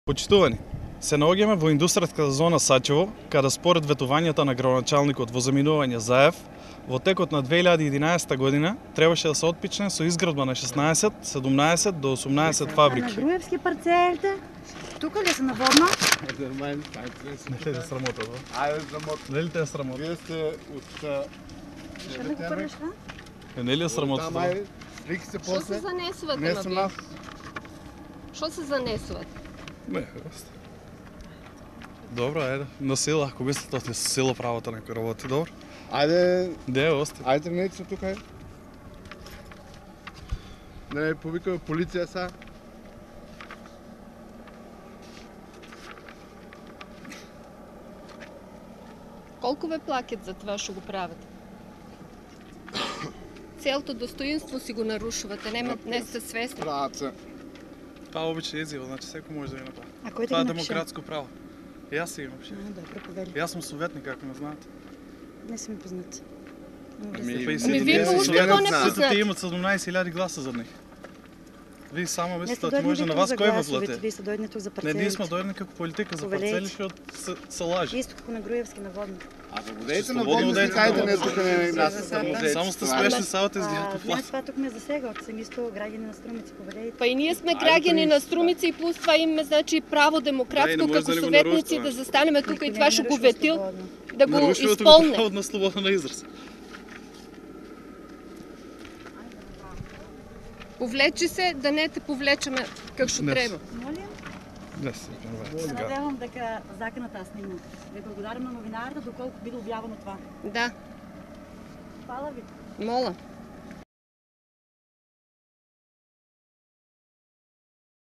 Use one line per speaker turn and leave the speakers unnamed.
Почитувани, се наоѓаме во индустријската зона Сачево, каде според ветувањата на градоначалникот во заминување заев, во текот на 2011 година требаше да се отпичне со изградба на 16, 17 до 18 фабрики.
На Груевски парцелите, тука ли се наводно?
Не ли те срамота, да?
Ајде срамота.
Не ли те срамота?
Вие сте од...
Ще не го првиш,
Не ли е срамота?
Тама е, слики се
Што
после.
се занесувате
Не
на
со
вие?
нас.
Што се занесувате?
Не, просто. Добро, ајде, на сила, ако мислите да со сила правото некој работи, добро?
Ајде,
Де, ости.
ајде тргнете се тука. Не, повикаме полиција са.
Колку ве плакат за това што го правите? Целото достоинство си го нарушувате, не сте свесни.
Прават се.
Това е обична изјава, значи секој може да ја направи.
А кој ти
Това
ги
е
напише?
демократско право. Јас си имам шеф.
Добро, повели.
Јас сум советник, ако не знаете.
Не си ми познати.
Ами вие уште тоа не
Сите
познати.
имат 17.000 гласа за них. Вие само
Не
мислите
сте
да може
дојдени
на
тук
вас
за
кој во
гласовите,
плате.
вие сте дојдени тук за
Не,
парцелите.
ние сме дојдени како политика за
Повелете.
парцели, што се лажи.
Исто како на Груевски наводно.
А да водете на
Слободно
водно,
водете
кајде
на
не
водно.
тука не нас да музејци.
Само сте смешни, савате изгледате
Вие
плат.
това тук ме засега, од сам исто граѓани на Струмици, повелете.
Па и ние сме граѓани на Струмици и плюс това имаме значи право
Да, и
демократско
не може
како
да ни го
советници
нарушуваме.
да застанеме тука и
Никој
това
не
што го
нарушува
ветил
слободно.
да го
Нарушувате го
исполне.
правото на слобода на израз.
Повлечи се да не те повлечеме како што
Не.
треба.
Молим,
Не се
се
сега.
надевам дека законот е снимал. Ви благодарам на новинарите доколку биде објавено това.
Да,
Фала ви.
мола.